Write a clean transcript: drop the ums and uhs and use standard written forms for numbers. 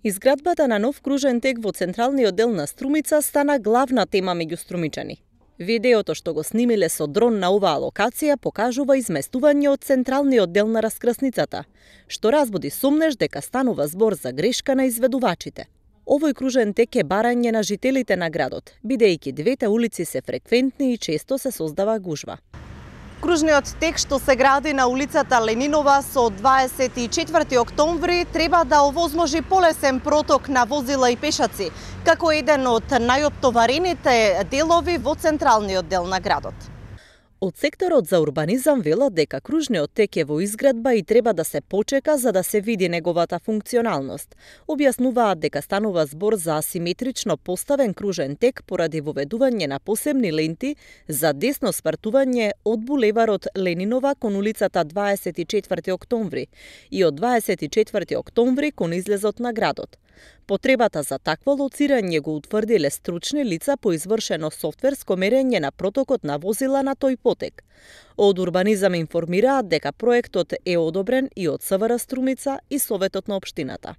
Изградбата на нов кружен тек во централниот дел на Струмица стана главна тема меѓу струмичани. Видеото што го снимиле со дрон на оваа локација покажува изместување од централниот дел на раскрсницата, што разбуди сумнеж дека станува збор за грешка на изведувачите. Овој кружен тек е барање на жителите на градот, бидејќи двете улици се фреквентни и често се создава гужва. Кружниот тек што се гради на улицата Ленинова со 24 октомври треба да овозможи полесен проток на возила и пешаци, како еден од најоптоварените делови во централниот дел на градот. Од секторот за урбанизам велат дека кружниот тек е во изградба и треба да се почека за да се види неговата функционалност. Објаснуваат дека станува збор за асиметрично поставен кружен тек поради воведување на посебни ленти за десно спартување од булеварот Ленинова кон улицата 24 октомври и од 24 октомври кон излезот на градот. Потребата за такво лоцирање го утврдиле стручни лица по извршено софтверско мерење на протокот на возила на тој потек. Од урбанизам информираат дека проектот е одобрен и од СВР Струмица и Советот на општината.